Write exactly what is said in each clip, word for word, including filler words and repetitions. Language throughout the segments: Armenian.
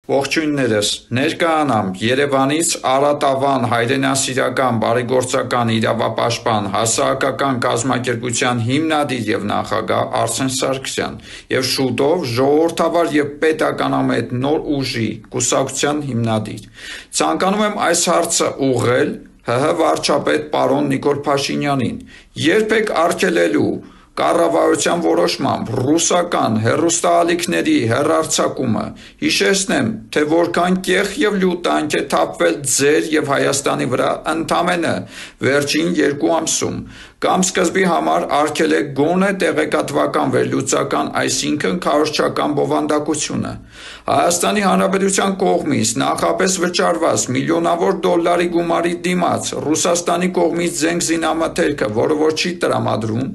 Ողջույններս, ներկայանամ Երևանից Արատավան հայրենասիրական բարեգործական իրավապաշտպան հասարակական կազմակերպության հիմնադիր եւ նախագահ Արսեն Սարգսյան եւ շուտով ժողովրդավար եւ պետականամետ նոր ուժի կուսակցության հիմնադիր։ Ցանկանում եմ այս հարցը ուղղել ՀՀ վարչապետ պարոն Նիկոլ Փաշինյանին, երբեք արգելելու կառավարության որոշմամբ ռուսական հեռուստաալիքների հեռարձակումը, հիշեցնեմ, թե որքան կեղ եւ լյուտ տանք է թափվել ձեր եւ Հայաստանի վրա ընդամենը վերջին երկու ամսում, կամ սկզբի համար արգելեք գոնե տեղեկատվական վերլուծական, այսինքն քարոզչական բովանդակությունը։ Հայաստանի Հանրապետության կողմից նախապես վճարված միլիոնավոր դոլարի գումարի դիմաց Ռուսաստանի կողմից զենք զինամթերքը, որը որ չի տրամադրում,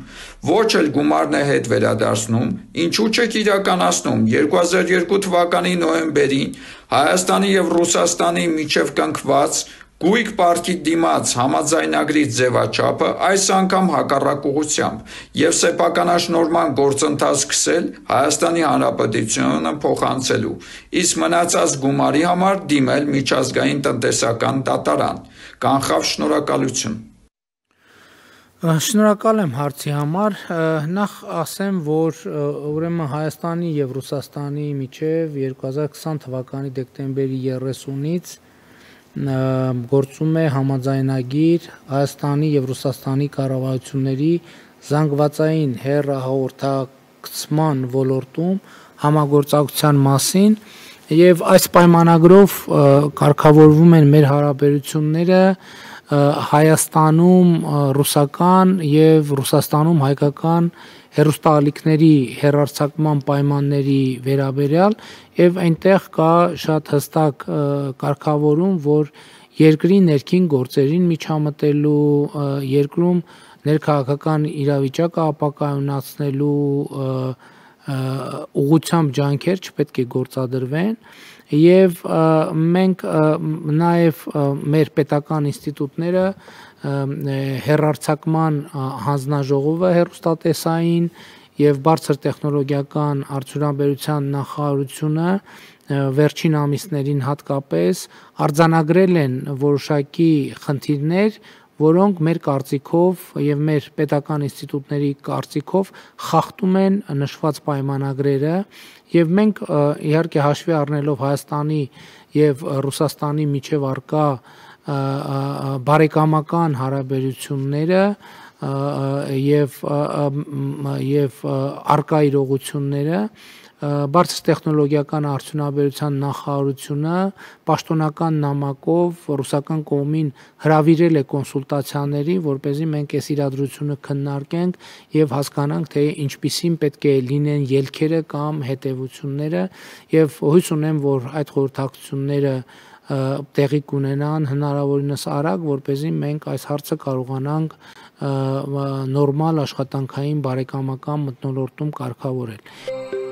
ոչ էլ գումարն է հետ վերադարձնում, ինչու չեք իրականացնում երկու հազար երկու թվականի նոյեմբերին Հայաստանի եւ Ռուսաստանի միջև կնքված գույք պարտքի դիմաց համաձայնագրի ձևաչափը այս անգամ հակառակ ուղղությամբ եւ սեփականաշնորհման գործընթաց սկսել Հայաստանի Հանրապետությունը փոխանցելու, իսկ մնացած գումարի համար դիմել միջազգային տնտեսական դատարան։ Կանխավ շնորհակալություն։ Շնորհակալ եմ հարցի համար, նախ ասեմ, որ ուրեմն Հայաստանի եւ Ռուսաստանի միջև երկու հազար քսան թվականի դեկտեմբերի երեսունից գործում է համաձայնագիր Հայաստանի եւ Ռուսաստանի կառավարությունների զանգվածային հեռահաղորդակցման ոլորտում համագործակցության մասին եւ այս պայմանագրով կարգավորվում են մեր հարաբերությունները Հայաստանում ռուսական եւ Ռուսաստանում հայկական հեռուստաալիքների հեռարձակման պայմանների վերաբերյալ եւ այնտեղ կա շատ հստակ կարգավորում, որ երկրի ներքին գործերին միջամտելու, երկրում ներքաղաքական իրավիճակը ապակայունացնելու ուղղությամբ ջանքեր չպետք է գործադրվեն եւ մենք նաեւ մեր պետական ինստիտուտները հեռարձակման հանձնաժողովը հեռուստատեսային եւ բարձր տեխնոլոգիական արդյունաբերության նախարարությունը վերջին ամիսներին հատկապես արձանագրել են որոշակի խնդիրներ, որոնք մեր կարծիքով եւ մեր պետական ինստիտուտների կարծիքով խախտում են նշված պայմանագրերը եւ մենք իհարկե հաշվի առնելով Հայաստանի եւ Ռուսաստանի միջև առկա բարեկամական հարաբերությունները եւ եւ առկա իրողությունները բարձր տեխնոլոգիական արդյունաբերության նախարարությունը պաշտոնական նամակով ռուսական կողմին հրավիրել է կոնսուլտացիաների, որպեսզի մենք այս իրադրությունը քննարկենք եւ հասկանանք, թե ինչպիսին պետք է լինեն ելքերը կամ հետեւությունները եւ հույս ունեմ, որ այդ խորհրդակցությունները տեղի կունենան հնարավորինս արագ, որպեսզի մենք այս հարցը կարողանանք նորմալ աշխատանքային բարեկամական մթնոլորտում կարգավորել։